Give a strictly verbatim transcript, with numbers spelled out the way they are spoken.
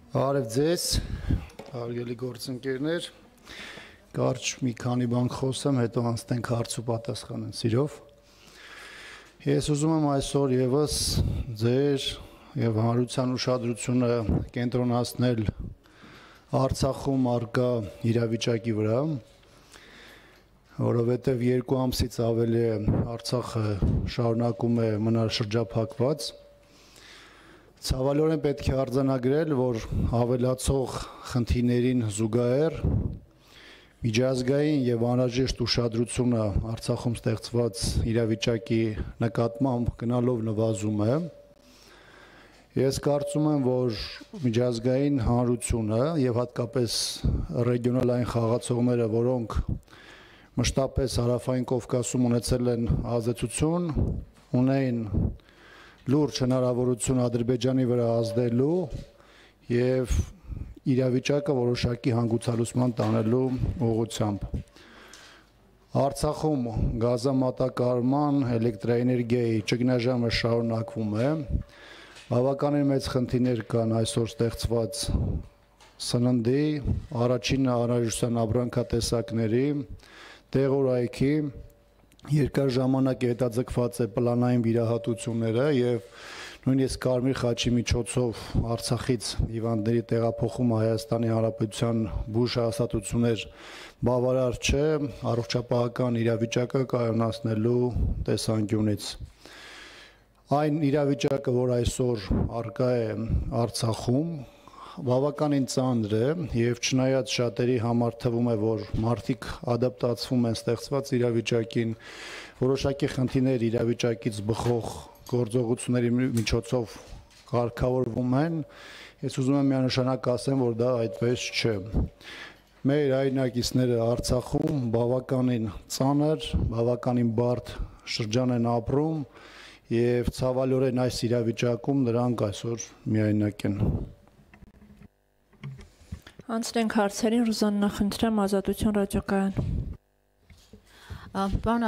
Արև ձեզ, հարգելի գործընկերներ, կարճ մի քանի բան խոսեմ, հետո անցնենք հարց ու պատասխանեն սիրով։ Ես ուզում եմ այսօր եւս ձեր եւ հանրության ուշադրությունը կենտրոնացնել Արցախում առկա իրավիճակի վրա, որովհետեւ երկու ամսից ավելի Արցախը շարունակում է մնալ շրջափակված։ Ցավալիորեն պետք է արձանագրել, որ ավելացող խնդիրներին զուգահեռ միջազգային եւ անհրաժեշտ ուշադրությունը Արցախում ստեղծված իրավիճակի նկատմամբ գնալով նվազում է։ Ես կարծում եմ, որ միջազգային հանրությունը եւ հատկապես ռեգիոնալային խաղացողները, որոնք մշտապես Հարավային Կովկասում ունեցել են ազդեցություն, ունեն լուրջ հնարավորություն Ադրբեջանի վրա ազդելու եւ իրավիճակը որոշակի հանգուցալուծման տանելու ուղղությամբ։ Արցախում գազամատակարարման, էլեկտրաէներգիայի ճգնաժամը շարունակվում է։ Բավականին մեծ խնդիրներ կան այսօր ստեղծված սննդի, առաջին անհրաժեշտության ապրանքատեսակների, տեղորայքի երկար ժամանակ հետաձգված է պլանային վիրահատությունները եւ նույնիսկ Կարմիր խաչի միջոցով Արցախից հիվանդների տեղափոխումը Հայաստանի Հանրապետության բուժ հաստատություններ բավարար չէ առողջապահական իրավիճակը կայունացնելու տեսանկյունից։ Այն իրավիճակը, որ այսօր առկա է Արցախում, բավականին ծանր է եւ չնայած շատերի համար թվում է, որ մարդիկ ադապտացվում են ստեղծված իրավիճակին, որոշակի խնդիրներ իրավիճակից բխող գործողությունների միջոցով կարգավորվում են, ես ուզում եմ միանշանակ ասեմ, որ դա այդպես չէ։ Մեր հայրենակիցները Արցախում բավականին ծանր, բավականին բարդ շրջան են ապրում եւ ցավալիորեն այս իրավիճակում նրանք այսօր միայնակ են։ Անցնենք հարցերին, Ռուզաննա, խնդրեմ, Ազատություն ռադիոկայան։ Պարոն